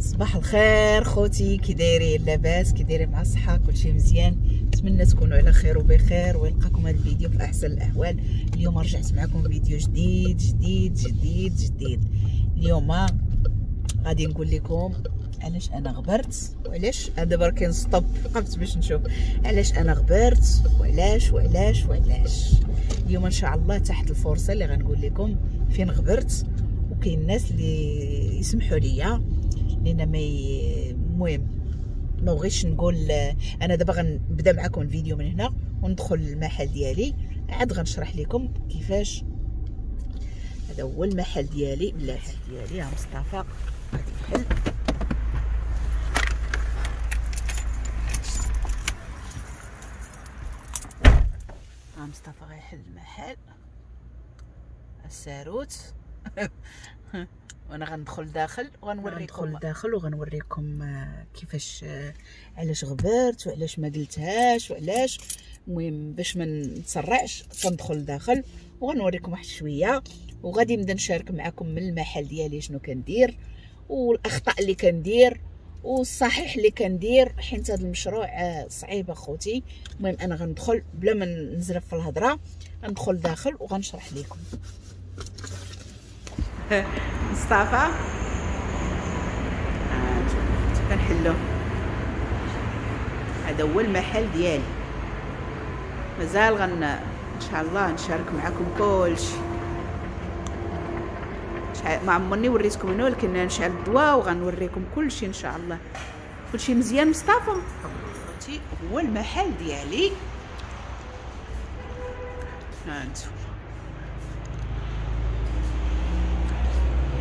صباح الخير خوتي، كي دايرين؟ لاباس؟ كي دايرين مع الصحة؟ كلشي مزيان؟ نتمنى تكونوا على خير وبخير ويلقاكم هذا الفيديو في احسن الاحوال. اليوم رجعت معكم فيديو جديد جديد جديد جديد. اليوم غادي نقول لكم علاش انا غبرت وعلاش دابا كاين stop، وقفت باش نشوف علاش انا غبرت وعلاش وعلاش وعلاش. اليوم ان شاء الله تحت الفرصة اللي غنقول لكم فين غبرت، وكاين الناس اللي يسمحوا لي لان ما المهم ما بغيتش نقول. انا دابا غنبدا معكم الفيديو من هنا وندخل المحل ديالي، عاد غنشرح لكم كيفاش. هذا هو المحل ديالي، بلاتي ديالي ها مصطفى غادي يحل. ها مصطفى غيحل المحل الساروت وانا غندخل داخل وغنوريكم داخل وغنوريكم كيفاش علاش غبرت وعلاش ما قلتهاش وعلاش. المهم باش ما نتسرعش كندخل داخل وغنوريكم واحد شوية، وغادي نبدا نشارك معكم من المحل ديالي شنو كندير والاخطاء اللي كندير والصحيح اللي كندير، حيت هذا المشروع صعيب اخوتي. المهم انا غندخل بلا ما نزرب في الهضرة، غندخل داخل وغنشرح لكم. مصطفى كنحلو، هذا هو المحل ديالي. مازال ان شاء الله نشارك معكم كلشي. ما عمرني وريتكم هنا، ولكن نشعل الضواء وغنوريكم كلشي ان شاء الله. كلشي مزيان مصطفى. هو المحل ديالي، ها انتم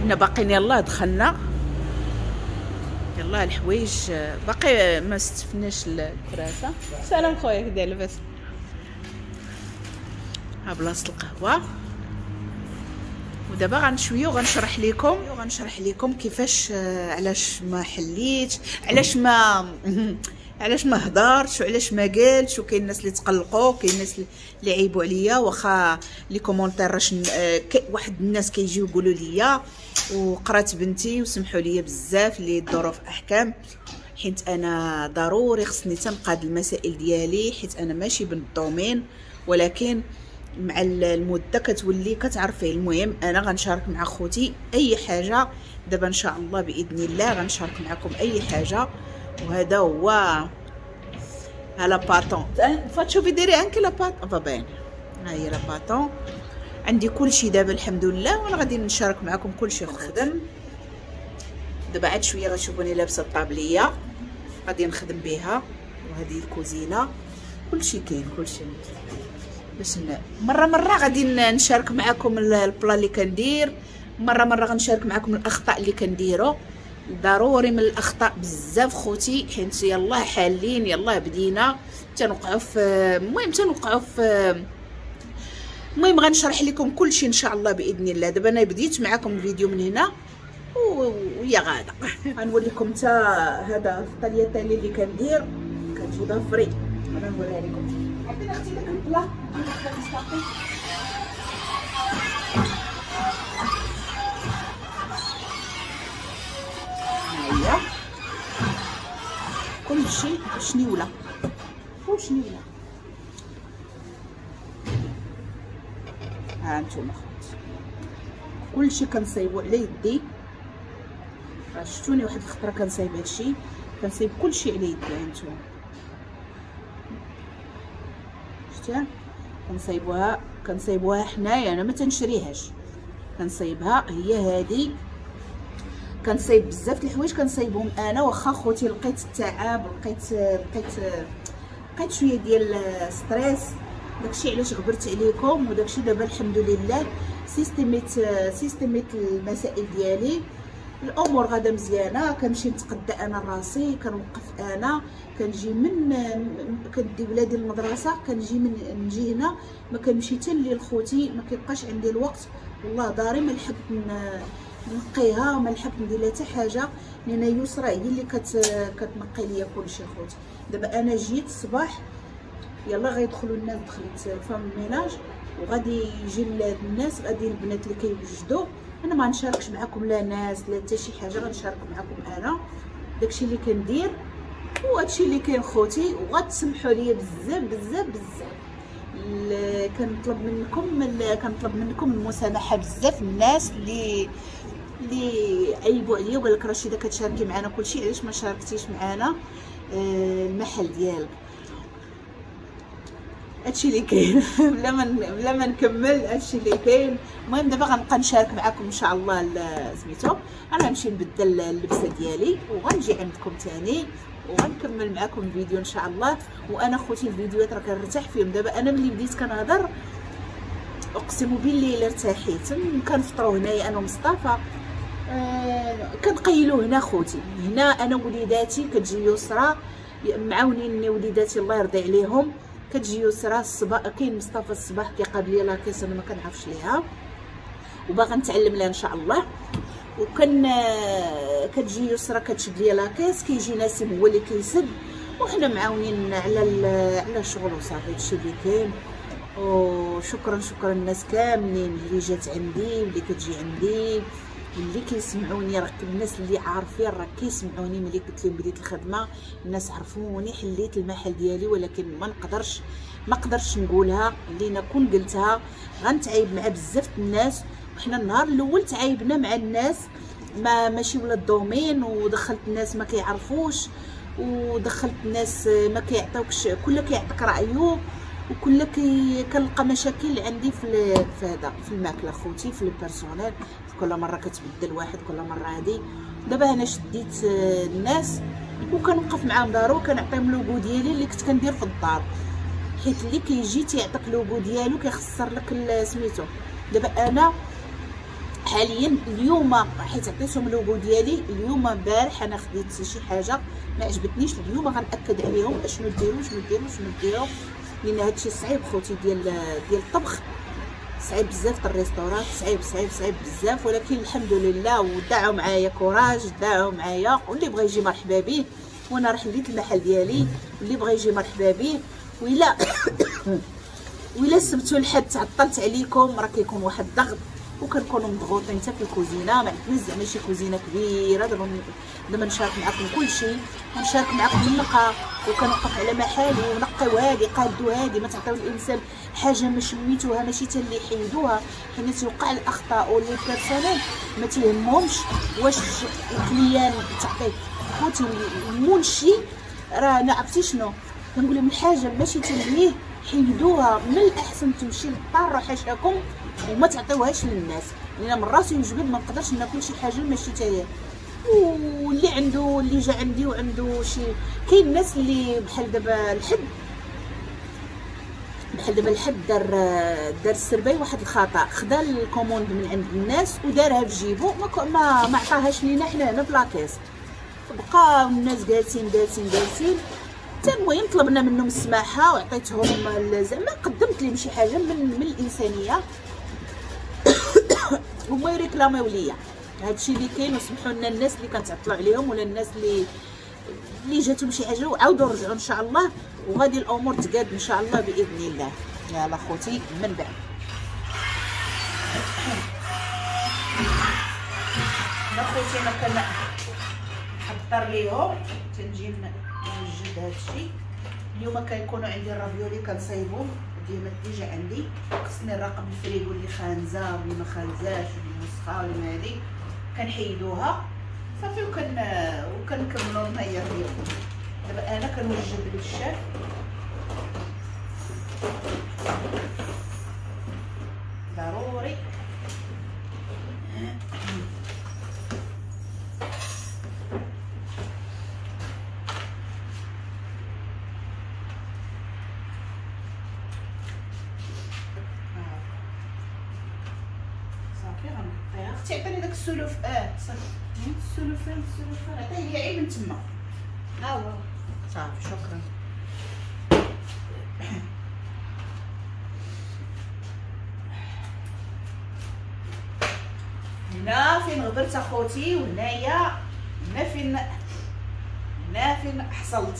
هنا باقيين. يلاه دخلنا، يلاه الحوايج باقي ما استفناش الكراسة. سلام خويا، كي داير؟ لاباس؟ ها بلاصة القهوة. ودابا غنشويه وغنشرح لكم كيفاش علاش ما حليت، علاش ما هضرتش وعلاش ما قالتش. وكاين الناس اللي تقلقوا، كاين الناس اللي عيبوا عليا، واخا les commentaires واحد الناس كيجيو يقولوا لي وقرات بنتي وسمحوا لي بزاف اللي الظروف احكام، حيت انا ضروري خصني تنقاد المسائل ديالي، حيت انا ماشي بنت ال domaine، ولكن مع المدة كتولي كتعرفي. المهم انا غنشارك مع خوتي اي حاجة دابا ان شاء الله باذن الله غنشارك معكم اي حاجة. وهذا هو ها la pâte faccio vedere anche la pâte va bene. ها هي la pâte، عندي كلشي دابا الحمد لله، وانا غادي نشارك معكم كلشي. خدم دابا عاد شوية غتشوفوني لابسه الطابليه غادي نخدم بها، وهذه الكوزينة كلشي كاين كلشي. باش مرة مرة غادي نشارك معكم ال plat اللي كندير، مرة مرة غنشارك معكم الاخطاء اللي كنديرو. ضروري من الاخطاء بزاف خوتي، حيت يلاه حالين يلاه بدينا تنوقعوا في المهم تنوقعوا في المهم غنشرح لكم كلشي ان شاء الله باذن الله. دابا انا بديت معكم الفيديو من هنا ويا غاده غنوريكم حتى هذا ال tagliatelle اللي كندير كتجيبها frais، انا نوريها لكم. عطيني اختي داك ال plat هي كلشي شنيوله وشنيوله. ها نتوما خوتي كلشي كنصايبو على يدي. راه شفتوني واحد الخطرة كنصايب هادشي، كنصايب كلشي على يدي. ها نتوما شفتيها كنصايبوها، كنصايبوها حنايا، انا ما تنشريهاش، كنصايبها هي هادي. كنصايب بزاف د الحوايج كنصايبهم انا، واخا خوتي لقيت التعب، لقيت لقيت لقيت شوية ديال stress، داكشي علاش غبرت عليكم. وداكشي دابا الحمد لله سيستميت المسائل ديالي، الامور غادا مزيانه. كنمشي نتقدى انا راسي، كنوقف انا، كنجي من كندي ولادي للمدرسة، كنجي من نجي هنا، ما كنمشي حتى الليل خوتي، ما كيبقاش عندي الوقت. والله داري ما لحقت نقيها، ما لحقت ندير لها حتى حاجة، لان يسرى هي اللي كتنقي ليا كلشي خوتي. دابا انا جيت الصباح يلا غيدخلوا الناس، دخلت femme ménage وغادي يجي الناس، غادي البنات اللي كيوجدوا. انا ما غنشاركش معكم لا ناس لا حتى شي حاجة، غنشارك معكم انا داكشي اللي كندير وهادشي اللي كاين خوتي. وغتسمحوا لي بزاف بزاف بزاف، كنطلب منكم المسامحة بزاف. الناس اللي عيبوا عليا وقال لك رشيده كتشاركي معنا كلشي، علاش ما شاركتيش معنا المحل ديالك؟ هادشي اللي كاين بلا ما نكمل هادشي اللي كاين. المهم دابا غنبقى نشارك معكم ان شاء الله سميتو. انا غنمشي نبدل اللبسه ديالي وغنجي عندكم ثاني وغنكمل معكم الفيديو ان شاء الله. وانا خوتي الفيديوهات راه كنرتاح فيهم. دابا انا ملي بديت كنهضر اقسم بالله الا ارتاحيت. كنفطروا هنايا انا ومصطفى، كنقيلوا هنا خوتي. هنا انا وليداتي كتجي يسرى معاونيني وليداتي الله يرضي عليهم. كتجي يسرى الصباح، كاين مصطفى الصباح كيقابل لي la caisse، انا ما كنعرفش ليها وباغا نتعلم لها ان شاء الله. وكان كتجي يسرى كتشد لي la caisse، كيجي ناسم هو اللي كيسد، وحنا معاونين على الشغل وصافي. هادشي اللي كاين. وشكرا شكرا الناس كاملين اللي جات عندي واللي كتجي عندي واللي كيسمعوني. راه الناس اللي عارفين راه كيسمعوني. ملي قلت لهم بديت الخدمة الناس عرفوني، حليت المحل ديالي، ولكن ما قدرتش نقولها لينا. كون قلتها غنتعايب مع بزاف الناس. وحنا النهار الاول تعايبنا مع الناس ما ماشي ولا ال domaine، ودخلت الناس ما كيعرفوش، ودخلت الناس ما كيعطيوكش، كل كيعطيك رايه، وكل كنلقى مشاكل عندي في هذا في الماكلة خوتي، في ال personnel. كل مرة كتبدل واحد، كل مرة هادي. دابا انا شديت الناس وكنوقف معاهم دارو، وكنعطيهم le goût ديالي اللي كنت كندير في الدار، حيت اللي كيجي تيعطيك le goût ديالو كيخسر لك سميتو. دابا انا حاليا اليوم حيت عطيتهم le goût ديالي اليوم، البارح انا خديت شي حاجة ما عجبتنيش، اليوم غنأكد عليهم اشنو ديروا شنو ديروا شنو ديروا، لان هادشي صعيب خوتي ديال الطبخ، صعيب بزاف. ال restaurant صعيب صعيب صعيب بزاف، ولكن الحمد لله ودعوا معايا courage، دعوا معايا، واللي بغى يجي مرحبا به. وانا راه حليت المحل ديالي، واللي بغى يجي مرحبا به. وإلا وإلا سبتو لحد تعطلت عليكم راه كيكون واحد الضغط، وكنكونوا مضغوطين حتى في الكوزينة. ما عندناش زعما شي كوزينه كبيرة. دابا نشارك معكم كلشي، ونشارك معكم النقا، وكنوقف على محالي ونقيو هادي قادو هادي. ما تعطيو الانسان حاجة ما شميتوها ماشي حتى اللي يحيدوها، حيت تيوقع الاخطاء و les personnels ما تيهمهمش واش ال client تعطيه. خوتي المنشي راه انا عرفتي شنو كنقول لهم، الحاجة ماشي تلهيه حيدوها، من الاحسن تمشي للطار حاشاكم وما تعطيوهاش للناس، لان من راسي يجبد ما نقدرش ناكل شي حاجة ماشي تاهي. واللي عنده اللي جا عندي وعنده شي، كاين الناس اللي بحال دابا الحد، بحال دابا الحد دار السرباي واحد الخطا، خدا ال commande من عند الناس ودارها في جيبو، ما عطاهاش لينا حنا هنا في la caisse. بقاو الناس جالسين جالسين جالسين حتى المهم طلبنا منهم السماحة وعطيتهم زعما قدمت لهم شي حاجة من الانسانية هما يريكلاميو ليا. هادشي اللي كاين. وسمحوا لنا الناس اللي كنتعطلوا عليهم ولا الناس اللي جاتهم شي حاجة، وعاودوا رجعوا ان شاء الله، وغادي الامور تقاد ان شاء الله باذن الله. يلا خوتي من بعد انا خوتي انا كنحضر ليهم، تنجي نوجد هادشي. اليوم كيكونوا عندي ال raviolis كنصايبهم ديما، déjà عندي خصني نراقب الفريغو اللي خانزه واللي ما خانزاش واللي مسخه واللي ما هادي، كنحيدوها صافي وكنكملوا النهار ديالنا. دابا انا كنوجد للشاف ضروري. صافي غنحطيها. اختي عطيني داك السلوف. صافي السلوفان السلوفان عطية لي عيب من تما. ها هو صافي شكرا. هنا فين غبرت اخوتي، وهنايا هنا فين، هنا فين حصلت،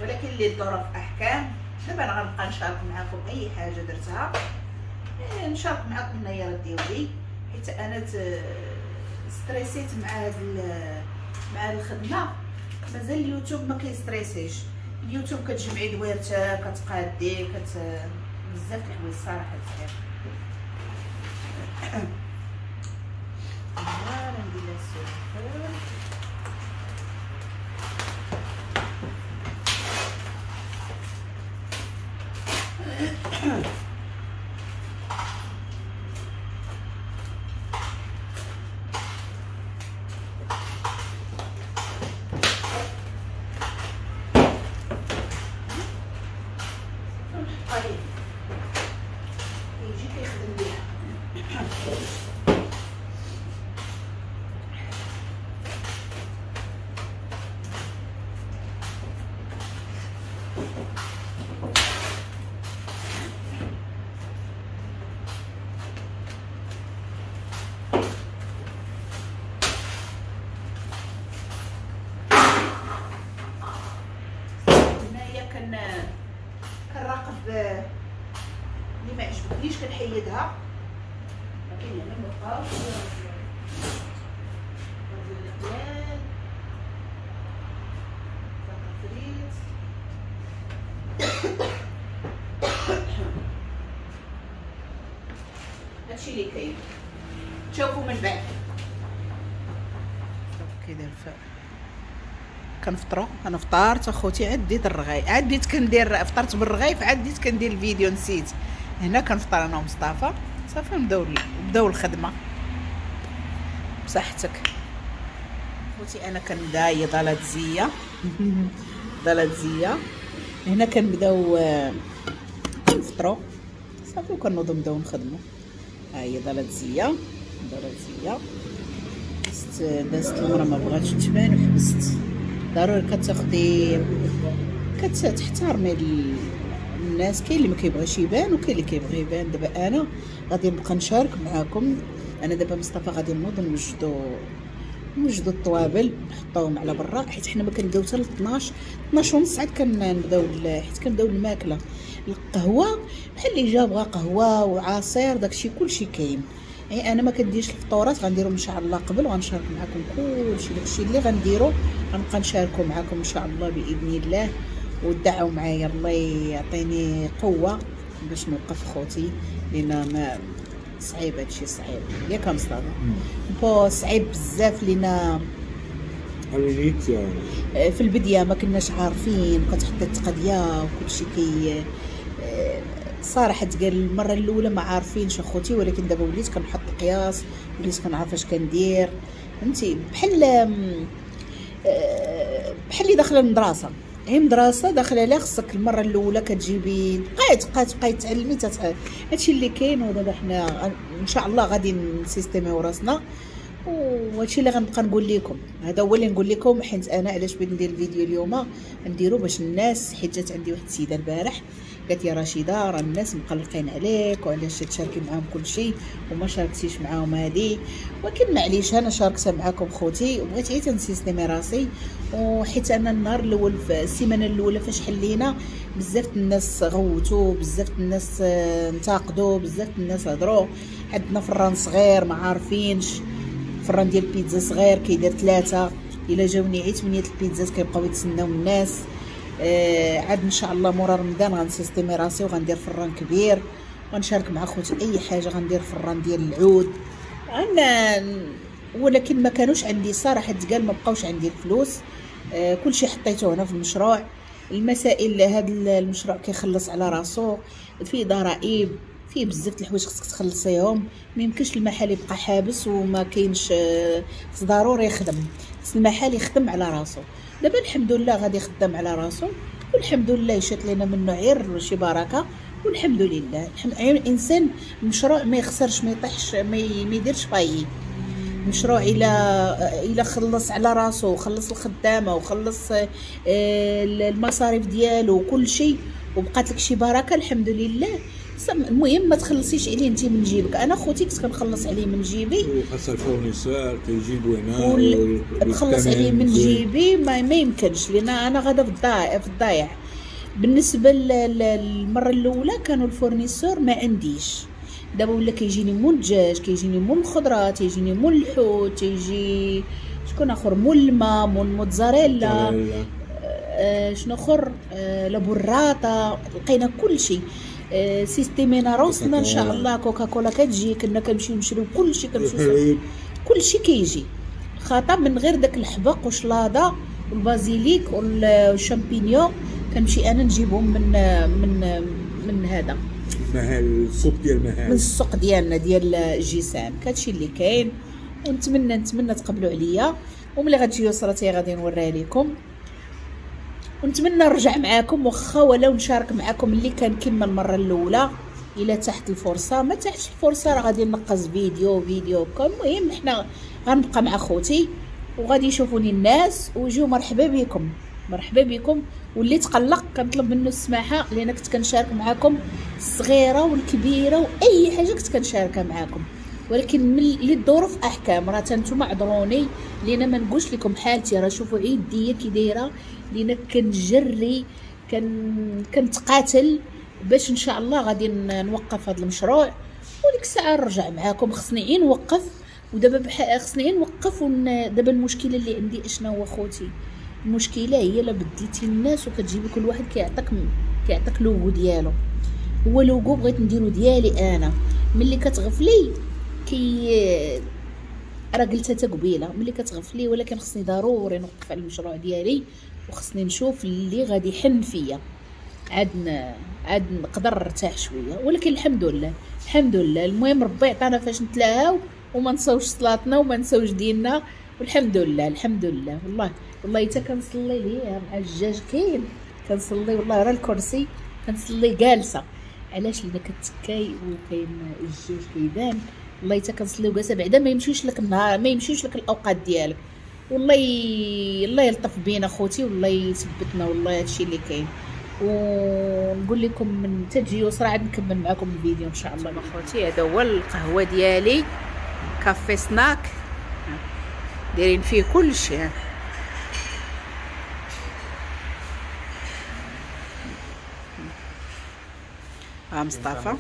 ولكن اللي الظروف احكام. دابا انا غنبقى نشارك معكم اي حاجة درتها. نشارك معكم النيارات ديالي، حيت انا ستريسيت مع هاد مع الخدمة. مازال اليوتيوب ما كيستريسيش، اليوتيوب كتجمعي دويرتك كتقادي بزاف الحوايج الصراحة بزاف. voilà ندير لها السلفون. يجي كيخدم بيها. هنايا كنراقب اللي ما عجبتنيش كنحيدها. كاين هنا مبقاوش القلال فريت. هادشي اللي كاين، تشوفوا من بعد كيدير. كنفطروا، انا فطرت اخوتي، عديت الرغايف، عديت كندير فطرت بالرغايف، عديت كندير الفيديو نسيت. هنا كنفطر انا ومصطفى صافي، نبداو الخدمة. بصحتك خوتي. انا كنبدا هي ضلاتزيه ضلاتزيه. هنا كنبداو كنفطروا صافي وكنوضوا نبداو نخدموا. ها هي ضلاتزيه ضلاتزيه. دازت المرة ما بغاتش تبان وحبست. ضروري كتاخدي كتحترمي الناس، كاين اللي ما كيبغيش يبان وكاين اللي كيبغي يبان. دابا انا غادي نبقى نشارك معاكم. انا دابا مصطفى غادي نوض نوجدو الطوابل نحطوهم على برا، حيت حنا ما كنبداو حتى ل 12 12 ونص عاد كنبداو، حيت كنبداو الماكلة. القهوة بحال اللي جا بغا قهوة وعصير داكشي كلشي كاين. يعني انا ما كنديرش الفطورات، غنديرهم ان شاء الله قبل وغنشارك معكم كلشي داكشي اللي غنديرو، غنبقى نشاركو معكم ان شاء الله باذن الله. ودعوا معايا الله يعطيني قوة باش نوقف خوتي، لان ما صعيب هادشي، صعيب ياك مصطفى؟ bon صعيب بزاف لينا في البداية ما كناش عارفين، كتحط التقضيه وكلشي كي صراحة تقال المرة الاولى ما عارفينش اخوتي، ولكن دابا وليت كنحط قياس، وليت كنعرف اش كندير، فهمتي؟ بحال اللي داخله المدرسة، هي مدرسه داخله لها خصك المرة الاولى كتجيبي تبقاي تعلمي هادشي اللي كاين. ودابا حنا ان شاء الله غادي نسيستيميو راسنا، وهادشي اللي غنبقى نقول لكم، هذا هو اللي نقول لكم. حيت انا علاش بغيت ندير الفيديو اليوم، نديرو باش الناس، حيت جات عندي واحد السيدة البارح قالت يا رشيده راه الناس مقلقين عليك وعلاش تشاركي معاهم كلشي وما شاركتيش معاهم هادي، ولكن معليش انا شاركتها معاكم خوتي، وبغيت غير تنسيستيمي راسي. وحيت انا النهار الاول في السيمانة الاولى فاش حلينا بزاف الناس غوتوا، بزاف الناس انتقدوا، بزاف الناس هضروا. عندنا فران صغير ما عارفينش، فران ديال البيتزا صغير كيدير 3، الا جاوني عي 8 البيتزات كيبقاو يتسناو الناس. عاد ان شاء الله مورا رمضان غنسيستيمي راسي وغندير فران كبير، غنشارك مع خوتي اي حاجة، غندير فران ديال العود انا. ولكن ما كانوش عندي صراحة تقال، ما بقاوش عندي الفلوس. كلشي حطيته هنا في المشروع. المسائل هذا المشروع كيخلص على راسو، فيه ضرائب، فيه بزاف د الحوايج خصك تخلصيهم. ما يمكنش المحل يبقى حابس وما كاينش، خص ضروري يخدم، خص المحل يخدم على راسو. دابا الحمد لله غادي يخدم على راسو، والحمد لله يشات لينا منه غير شي بركة، والحمد لله. الانسان مشروع ما يخسرش، ما يطيحش، ما يديرش faillite. مشروع الى خلص على راسو، وخلص الخدامة، وخلص المصاريف ديالو وكل شيء، وبقات لك شي بركة الحمد لله. المهم ما تخلصيش عليه انت من جيبك. انا خوتي كنت كنخلص عليه من جيبي، وخاص ال fournisseur كيجيبو هنا نخلص عليه من جيبي، ما يمكنش، لان انا غادا في الضايع. بالنسبة للمرة الاولى كانوا ال fournisseurs ما عنديش، دابا ولا كيجيني مول الدجاج، كيجيني مول الخضرة، تيجيني مول الحوت، تيجي شكون اخر، مول الماء، مول الموتزاريلا، شنو اخر، la burrata، لقينا كلشي. سيستيمينا روسنا ان شاء الله. كوكاكولا كتجي، كنا كنمشيو نشريو كلشي، كنمشيو كلشي كيجي خاطر من غير داك الحبق وشلاضه وال basilic وال champignon كنمشي انا نجيبهم من من من هذا المحل، السوق ديال المحل، من السوق ديالنا ديال الجسام. كهادشي اللي كاين، ونتمنى نتمنى تقبلوا عليا. وملي غتجي يسرى غادي نوريها لكم، ونتمنى نرجع معاكم واخا ولو نشارك معاكم اللي كان كما المرة الاولى. الا تحت الفرصة، ما تحتش الفرصة راه غادي نقص فيديو فيديو. المهم حنا غنبقى مع خوتي وغادي يشوفوني الناس ويجيو. مرحبا بكم، مرحبا بكم. واللي تقلق كنطلب منه السماحة، لان كنت كنشارك معاكم الصغيرة والكبيرة واي حاجة كنت كنشاركها معاكم، ولكن من للظروف احكام. راه نتوما عذروني لان ما نقولش لكم حالتي، راه شوفوا عيديه كي دايرة، لان كنجري كنتقاتل باش ان شاء الله غادي نوقف هذا المشروع، وديك الساعة نرجع معاكم. خصني غير نوقف، ودابا خصني غير نوقف. دابا المشكلة اللي عندي اشنا هو خوتي؟ المشكلة هي لا بدلتي الناس وكتجيبي كل واحد كيعطيك لوغو ديالو. هو لوغو بغيت نديرو ديالي انا، ملي كتغفلي كي راه قلتها حتى قبيلة، ملي كتغفلي، ولكن خصني ضروري نوقف على المشروع ديالي، وخصني نشوف اللي غادي يحن فيا عاد نقدر نرتاح شوية. ولكن الحمد لله، الحمد لله. المهم ربي عطانا فاش نتلاهاو وما نساوش صلاتنا وما نساوش ديننا، والحمد لله، الحمد لله. والله والله حتى كنصلي ليه مع الدجاج كاين، كنصلي والله راه الكرسي كنصلي جالسة. علاش؟ لان كتكاي وكاين الدجاج كيبان. والله حتى كنصلي وجالسه، بعدا ما يمشيوش لك النهار، ما يمشيوش لك الاوقات ديالك. والله الله يلطف بينا خوتي، والله يثبتنا، والله هادشي اللي كاين. ونقول لكم من تجي يسرى عاد نكمل معكم الفيديو ان شاء الله. خوتي هذا هو القهوة ديالي، café snack، دايرين فيه كل شيء. ها مصطفى،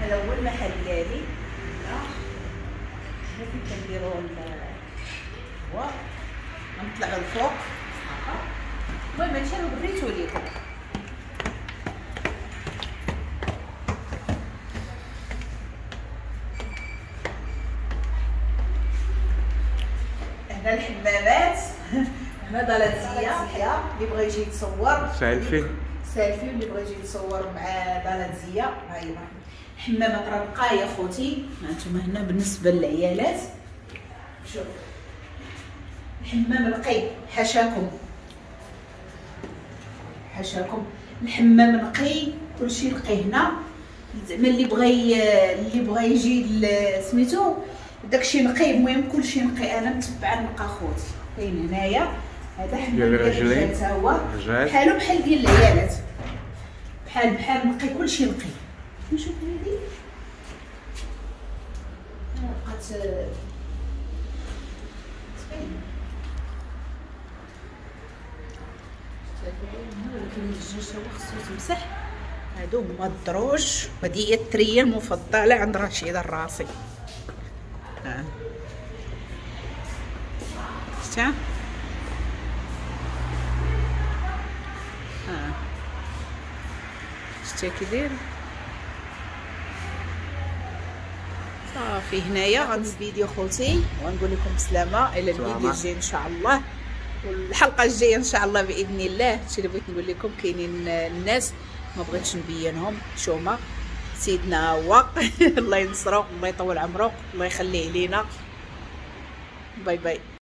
هذا هو المحل ديالي. هنا فين كنديرو القهوة، غنطلعو الفوق. المهم هادشي راه وريتو ليكم. هنا الحمامات، هنا دالاتزية اللي بغى يجي يتصور selfie، selfie، اللي بغى يجي يتصور مع دالاتزية. ها هي حمامات راه بقايا خوتي. هانتوما هنا بالنسبة للعيالات، شوف الحمام نقي، حاشاكم حاشاكم، الحمام نقي، كلشي نقي هنا. زعما اللي بغى يجي سميتو داكشي نقي، المهم كلشي نقي. انا متبعة نلقى خوتي. كاين هنايا هذا حمام ديال الرجال حتى هو بحالو بحال ديال العيالات، بحال بحال نقي، كلشي نقي. نشوف هادي بقات تبين، ولكن الدجاج هو خصو يتمسح. هادو هما الدروج، هادي هي التريه المفضلة عند رشيده الراسي. ها شتا، ها شتا كي داير. صافي هنايا غنسد الفيديو خوتي، ونقول لكم بسلامه الى الفيديو الجاي ان شاء الله، والحلقة الجاية ان شاء الله باذن الله. هادشي اللي بغيت نقول لكم. كاينين الناس ما بغيتش نبينهم، شوما سيدنا هو الله ينصرو، الله يطول عمره، الله يخليه لينا. bye bye.